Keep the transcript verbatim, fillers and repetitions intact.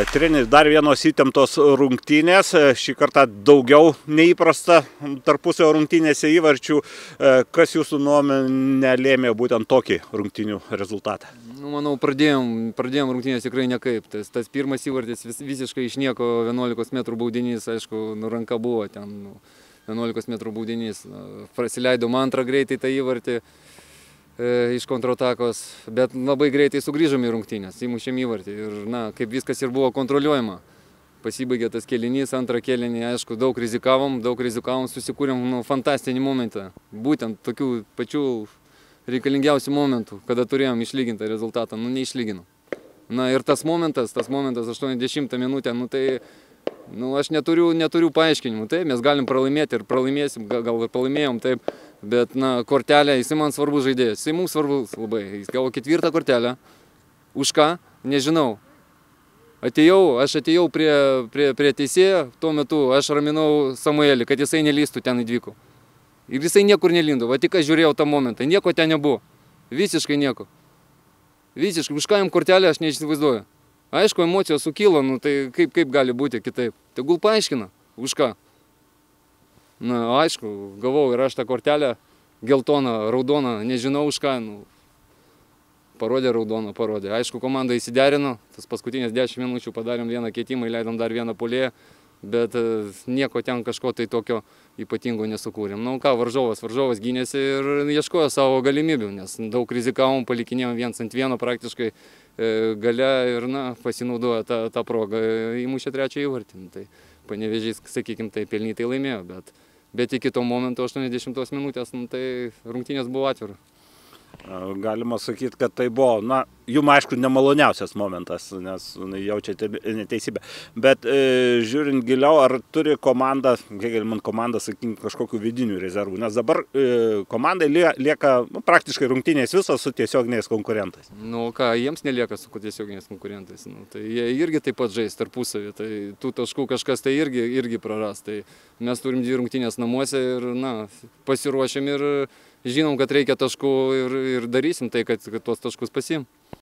Treneri, dar vienos įtemptos rungtynės, šį kartą daugiau neįprasta tarpusio rungtynėse įvarčių. Kas jūsų nuomonė lėmė būtent tokį rungtynių rezultatą? Nu, manau, pradėjom, pradėjom rungtynės tikrai nekaip. Tas, tas pirmas įvartis vis, visiškai iš nieko, vienuolikos metrų baudinys, aišku, nu, ranka buvo ten, nu, vienuolikos metrų baudinys. Prasileidom antrą greitai tą įvartį iš kontratakos, bet labai greitai sugrįžom į rungtynės, įmušėm įvartį ir, na, kaip viskas ir buvo kontroliuojama. Pasibaigė tas kėlinys, antrą kėlinį, aišku, daug rizikavom, daug rizikavom, susikūrėm, nu, fantastinį momentą. Būtent tokių pačių reikalingiausių momentų, kada turėjom išlygintą rezultatą, nu, neišlyginom. Na, ir tas momentas, tas momentas aštuoniasdešimtą minutę, nu, tai, nu, aš neturiu, neturiu paaiškinimų. Taip, mes galim pralaimėti ir pralaimėsim, gal ir pralaimėjom, taip. Bet, na, kortelė, jisai man svarbus žaidėjas, jisai mums svarbus labai. Jis gavo ketvirtą kortelę. Už ką? Nežinau. Atėjau, aš atėjau prie, prie, prie teisėjo, tuo metu aš raminau Samuelį, kad jisai nelystų ten į dvikų. Ir jisai niekur nelindo, va tik aš žiūrėjau tą momentą, nieko ten nebuvo. Visiškai nieko. Visiškai, už ką jam kortelę aš neįsivaizduoju. Aišku, emocijos sukilo, nu tai kaip, kaip gali būti kitaip. Tegul paaiškina, už ką. Na, aišku, gavau ir aš tą kortelę, geltoną, raudoną, nežinau už ką, nu, parodė raudoną, parodė. Aišku, komanda įsiderino, tas paskutinės dešimt minučių padarėm vieną keitimą, įleidom dar vieną puolėją, bet nieko ten kažko tai tokio ypatingo nesukūrėm. Na, ką, varžovas, varžovas gynėsi ir ieškojo savo galimybių, nes daug rizikavom, palikinėjom viens ant vieno praktiškai gale ir, na, pasinaudojo tą, tą progą, įmušė trečią įvartį. Tai Panevėžys, sakykim, tai pelnytai laimėjo, bet Bet iki to momento aštuoniasdešimtos minutės, nu, tai rungtynės buvo atvira. Galima sakyti, kad tai buvo, na, jum aišku, nemaloniausias momentas, nes jaučiate neteisybę. Bet e, žiūrint giliau, ar turi komanda, kiek man komanda, sakykim, kažkokių vidinių rezervų? Nes dabar e, komandai lieka nu, praktiškai rungtynės visos su tiesioginiais konkurentais. Nu ką, jiems nelieka su tiesioginiais konkurentais. Nu, tai jie irgi taip pat žais tarpusavį, tai tų taškų kažkas tai irgi, irgi praras. Tai mes turim dvi rungtynės namuose ir, na, pasiruošėm ir žinom, kad reikia taškų ir, ir darysim tai, kad, kad tuos taškus pasiim.